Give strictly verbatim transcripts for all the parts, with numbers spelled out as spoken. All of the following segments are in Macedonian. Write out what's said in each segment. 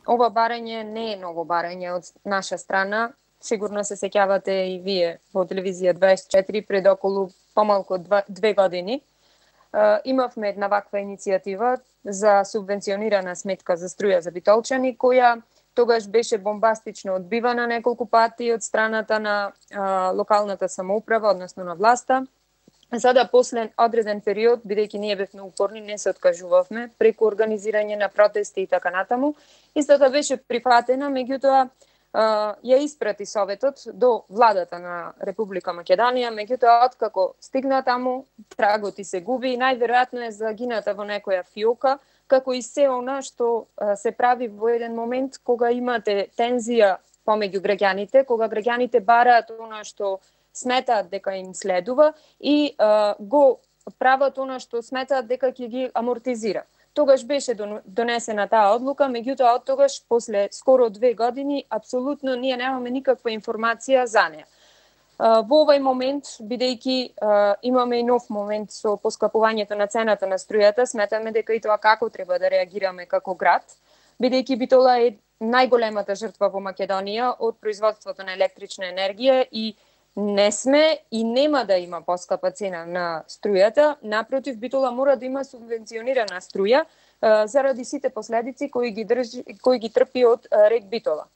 ова барање не е ново барање од наша страна. Сигурно се сеќавате и вие во телевизија дваесет и четири пред околу помалку два, две години. Uh, имавме една ваква иницијатива за субвенционирана сметка за струја за битолчани, која тогаш беше бомбастично одбивана неколку пати од страната на uh, локалната самоуправа, односно на власта. Сада после одреден период, бидејќи ние бевме упорни, не се откажувавме преку организирање на протести и така натаму. Истата беше прифатена, меѓутоа ја испрати Советот до владата на Република Македонија, меѓутоа откако стигна таму, трагот и се губи и најверојатно е загината во некоја фиока, како и се она што се прави во еден момент кога имате тензија помеѓу граѓаните, кога граѓаните бараат она што сметаат дека им следува и а, го прават она што сметаат дека ќе ги амортизира. Тогаш беше донесена таа одлука, меѓутоа од тогаш, после скоро две години, апсолутно ние немаме никаква информација за неа. Во овој момент, бидејќи имаме и нов момент со поскапувањето на цената на струјата, сметаме дека и тоа како треба да реагираме како град, бидејќи Битола е најголемата жртва во Македонија од производството на електрична енергија и не сме и нема да има поскапа цена на струјата. Напротив, Битола мора да има субвенционирана струја а, заради сите последици кои ги држи, кои ги трпи од а, рек Битола.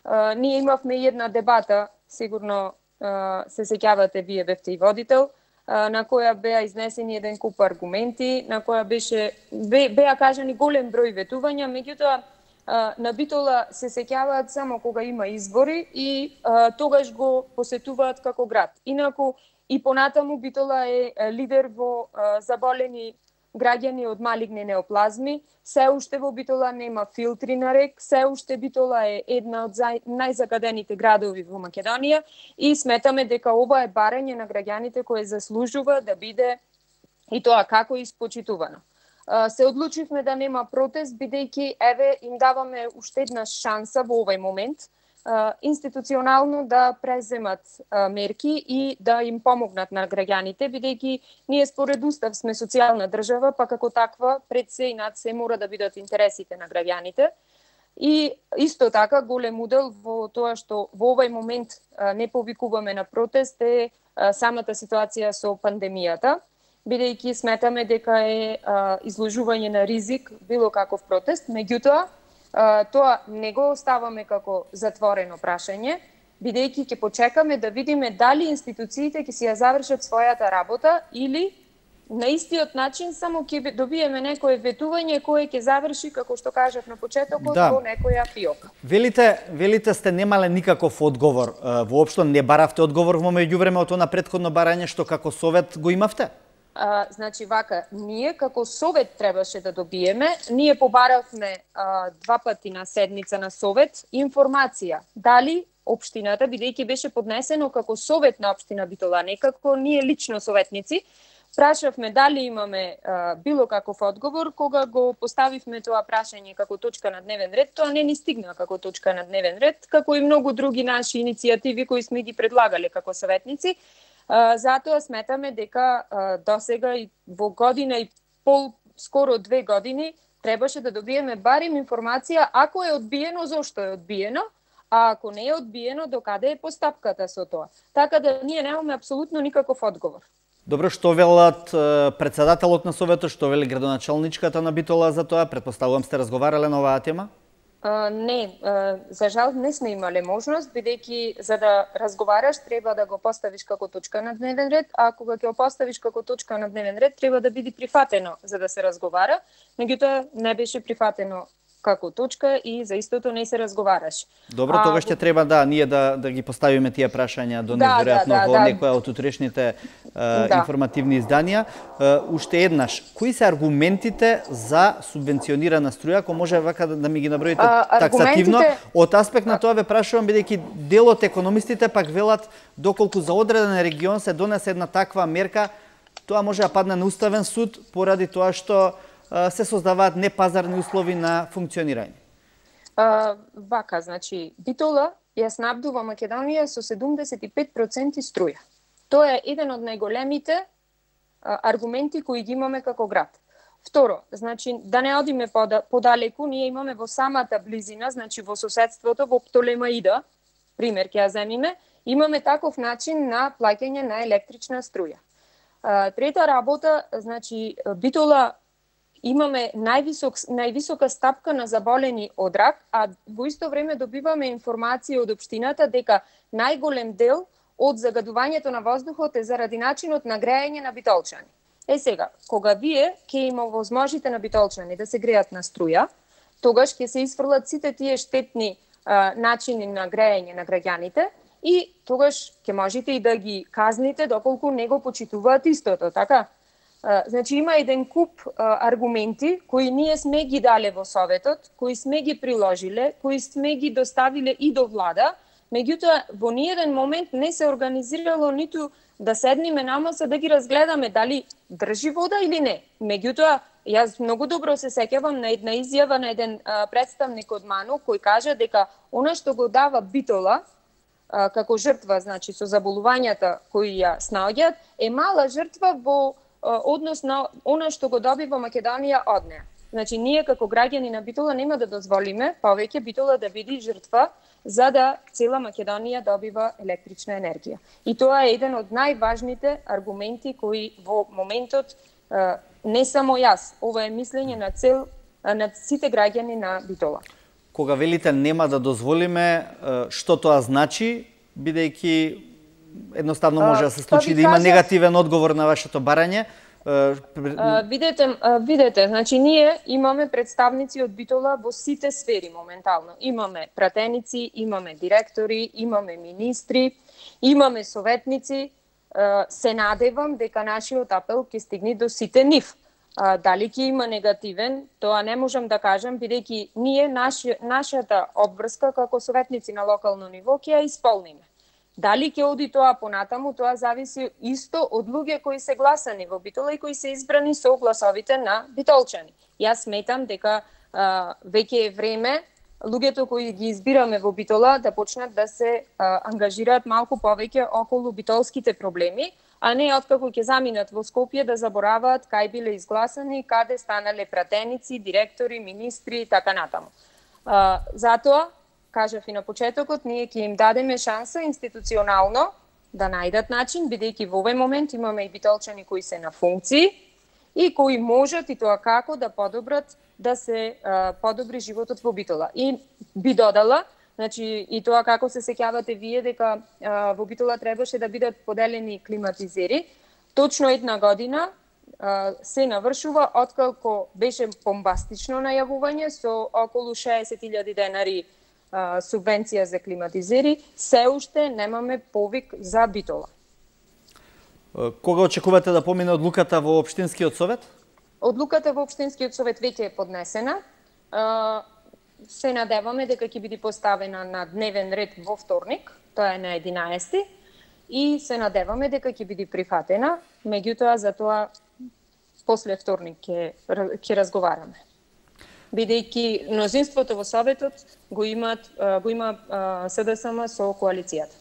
А, ние имавме една дебата, сигурно а, се сеќавате, вие бевте и водител, а, на која беа изнесени еден куп аргументи, на која беше бе, беа кажани голем број ветувања, меѓутоа на Битола се сеќаваат само кога има избори и а, тогаш го посетуваат како град. Инаку и понатаму Битола е лидер во а, заболени граѓани од малигни неоплазми. Се уште во Битола нема филтри на рек, се уште Битола е една од најзагадените градови во Македонија и сметаме дека ова е барање на граѓаните кое заслужува да биде и тоа како испочитувано. Се одлучивме да нема протест, бидејќи еве им даваме уште една шанса во овој момент институционално да преземат мерки и да им помогнат на граѓаните, бидејќи ние според устав сме социјална држава, па како таква пред се и над се мора да бидат интересите на граѓаните. И исто така голем удел во тоа што во овој момент не повикуваме на протест е самата ситуација со пандемијата, бидејќи сметаме дека е а, изложување на ризик било каков протест, меѓутоа а, тоа не го оставаме како затворено прашање, бидејќи ќе почекаме да видиме дали институциите ќе си ја завршат својата работа или на истиот начин само ќе добиеме некое ветување кое ќе заврши, како што кажав на почетокот, да, во некоја фиока. Велите, велите сте немале никаков одговор, воопшто не баравте одговор во меѓувреме од она претходно барање што како совет го имавте? А, значи вака, ние како совет требаше да добиеме, ние побаравме а, два пати на седница на совет информација дали општината, бидејќи беше поднесено како совет на општина Битола, не како ние лично советници, прашавме дали имаме а, било каков одговор. Кога го поставивме тоа прашање како точка на дневен ред, тоа не ни стигна како точка на дневен ред, како и многу други наши иницијативи кои сме ги предлагале како советници. Uh, затоа сметаме дека uh, досега и во година и пол, скоро две години, требаше да добиеме барем информација ако е одбиено, зошто е одбиено, а ако не е одбиено, докаде е постапката со тоа. Така да ние немаме апсолутно никаков одговор. Добро, што велат председателот на советот, што вели градоначалничката на Битола за тоа? Претпоставувам сте разговарале на оваа тема? Uh, не, uh, за жал не сме имале можност, бидејќи за да разговараш треба да го поставиш како точка на дневен ред, а кога ќе го поставиш како точка на дневен ред треба да биде прифатено за да се разговара, меѓутоа не беше прифатено како точка и за истото не се разговараш. Добро, а, тогаш ќе треба да ние да да ги поставиме тие прашања до да, неверојатно да, да, во да. некоја од утрешните uh, да. информативни изданија. Uh, уште еднаш, кои се аргументите за субвенционирана струја, ако може вака да, да ми ги наброите а, таксативно? Од аспект на тоа ве прашувам, бидејќи дел од економистите пак велат доколку за одреден регион се донесе една таква мерка, тоа може да падне на уставен суд поради тоа што се создаваат непазарни услови на функционирање. А, вака, значи, Битола ја снабдува Македонија со седумдесет и пет проценти струја. Тоа е еден од најголемите а, аргументи кои ги имаме како град. Второ, значи да не одиме подалеку, ние имаме во самата близина, значи во соседството, во Птолемаида, пример ќе ја земиме, имаме таков начин на плаќање на електрична струја. Трета работа, значи Битола имаме највисок, највисока стапка на заболени од рак, а во исто време добиваме информација од општината дека најголем дел од загадувањето на воздухот е заради начинот на грејење на битолчани. Е сега, кога вие ќе има возможите на битолчани да се греат на струја, тогаш ќе се исфрлат сите тие штетни а, начини на грејење на граѓаните и тогаш ќе можете и да ги казните доколку не го почитуваат истото, така? А, значи има еден куп а, аргументи кои ние сме ги дале во Советот, кои сме ги приложиле, кои сме ги доставиле и до влада, меѓутоа во ниеден момент не се организирало ниту да седниме на маса да ги разгледаме дали држи вода или не. Меѓутоа, јас многу добро се сеќавам на една изјава на еден а, представник од МАНУ кој кажа дека она што го дава Битола а, како жртва, значи со заболувањата кои ја снаоѓаат, е мала жртва во а, однос на она што го добива Македонија од неа. Значи, ние како граѓани на Битола нема да дозволиме повеќе Битола да биде жртва за да цела Македонија добива електрична енергија. И тоа е еден од најважните аргументи кои во моментот не само јас, ова е мислење на цел на сите граѓани на Битола. Кога велите нема да дозволиме, што тоа значи, бидејќи едноставно може да се случи да има негативен одговор на вашето барање? Uh, видете, uh, видете, значи ние имаме представници од Битола во сите сфери моментално. Имаме пратеници, имаме директори, имаме министри, имаме советници. Uh, се надевам дека нашиот апел ќе стигне до сите нив. Uh, дали ќе има негативен, тоа не можам да кажам, бидејќи ние наши, нашата обврска како советници на локално ниво ќе ја исполниме. Дали ќе оди тоа понатаму, тоа зависи исто од луѓе кои се гласани во Битола и кои се избрани со гласовите на битолчани. Јас сметам дека а, веќе е време луѓето кои ги избираме во Битола да почнат да се а, ангажираат малку повеќе околу битолските проблеми, а не откако ќе заминат во Скопје да забораваат кај биле изгласани, каде станале пратеници, директори, министри и така натаму. А, затоа кажав и на почетокот, ние ќе им дадеме шанса институционално да најдат начин, бидејќи во овој момент имаме и битолчани кои се на функции и кои можат и тоа како да подобрат да се а, подобри животот во Битола. И би додала, значи и тоа како се сеќавате вие дека а, во Битола требаше да бидат поделени климатизери, точно една година а, се навршува откако беше бомбастично најавување со околу шеесет илјади денари субвенција за климатизери, се уште немаме повик за Битола. Кога очекувате да помине одлуката во Општинскиот совет? Одлуката во Општинскиот совет веќе е поднесена. Се надеваме дека ќе биде поставена на дневен ред во вторник, тоа е на единаесети, и се надеваме дека ќе биде прифатена, меѓутоа за тоа после вторник ќе ќе разговараме. Бидејќи мнозинството во Советот го имат го има СДСМ со коалицијата.